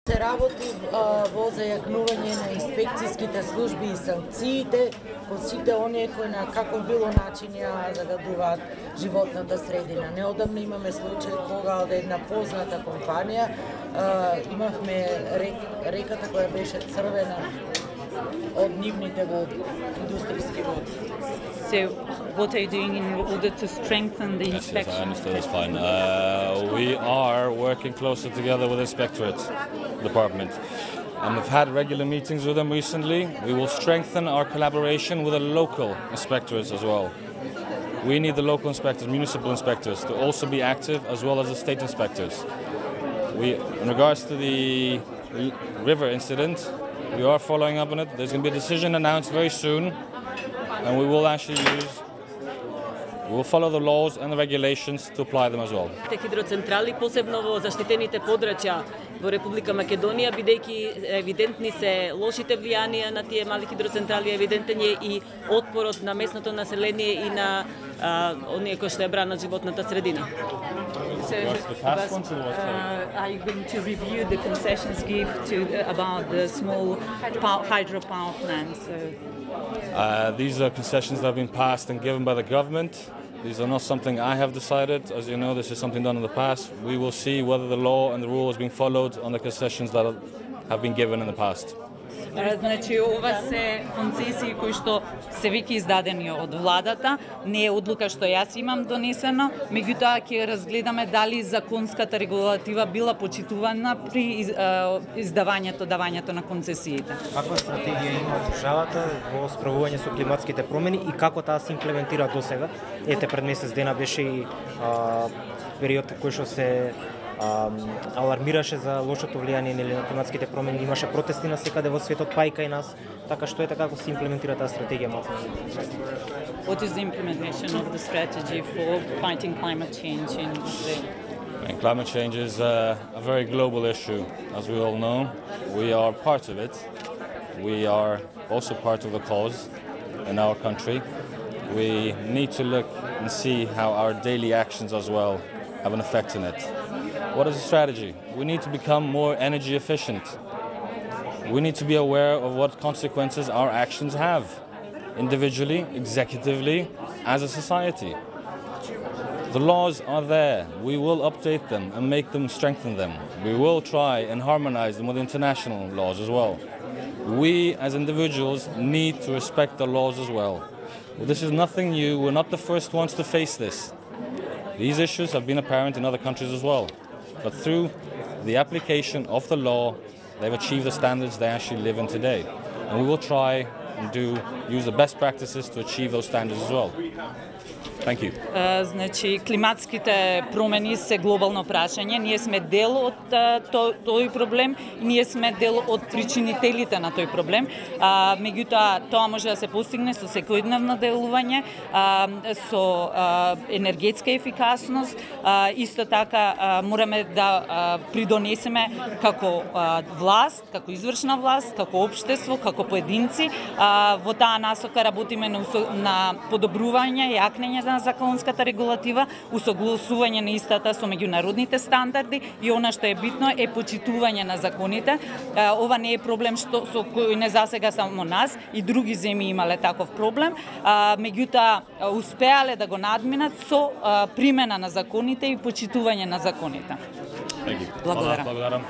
Се работи во зајакнување на инспекцијските служби и санкциите кон сите оние кои на каков било начин ја загадуваат животната средина. Неодамна имаме случај кога од една позната компанија имавме реката која беше црвена од нивните води, индустријски води. So, what are you doing in order to strengthen the inspection? Yes, I understand. That's fine. We are working closer together with the Inspectorate Department. And we've had regular meetings with them recently. We will strengthen our collaboration with the local inspectorates as well. We need the local inspectors, municipal inspectors, to also be active, as well as the state inspectors. In regards to the river incident, we are following up on it. There's going to be a decision announced very soon. And we will follow the laws and the regulations to apply them as well. Хидроцентрали, посебно во заштитените подрачја во Република Македонија, бидејќи евидентни се лошите влијанија на тие мали хидроцентрали, евидентен е и отпорот на местното население и на оние кои што ја бранат животната средина. Are you going to review the concessions given about the small hydropower plants? These are concessions that have been passed and given by the government. These are not something I have decided. As you know, this is something done in the past. We will see whether the law and the rule has been followed on the concessions that have been given in the past. Значи, ова се концесии кои што се веќе издадени од владата, не е одлука што јас имам донесено, меѓутоа ќе разгледаме дали законската регулатива била почитувана при давањето на концесиите. Каква стратегија има државата во справување со климатските промени и како таа се имплементира досега? Ете, пред месец дена беше и период кој што се алармираше за лошото влијание на климатските промени, имаше протести насекаде во светот, па и кај нас. Така што ете, како се имплементира таа стратегија? What is the implementation of the strategy for fighting climate change in Climate change is a very global issue, as we all know. We are part of it. We are also part of the cause in our country. We need to look and see how our daily actions as well have an effect on it. What is the strategy? We need to become more energy efficient. We need to be aware of what consequences our actions have, individually, executively, as a society. The laws are there. We will update them and make them, strengthen them. We will try and harmonize them with international laws as well. We, as individuals, need to respect the laws as well. This is nothing new. We're not the first ones to face this. These issues have been apparent in other countries as well. But through the application of the law, they've achieved the standards they actually live in today. And we will try and use the best practices to achieve those standards as well. Thank you. Значи, климатските промени се глобално прашање. Ние сме дел од тој проблем и ние сме дел од причинителите на тој проблем. Меѓутоа, тоа може да се постигне со секојдневно делување, со енергетска ефикасност. Исто така, мораме да придонесеме како власт, како извршна власт, како општество, како поединци. Во таа насока работиме на подобрување и јакнење на законската регулатива, усогласување на истата со меѓународните стандарди и она што е битно е почитување на законите. Ова не е проблем со кој не засега само нас, и други земји имале таков проблем, меѓутоа успеале да го надминат со примена на законите и почитување на законите. Благодарам.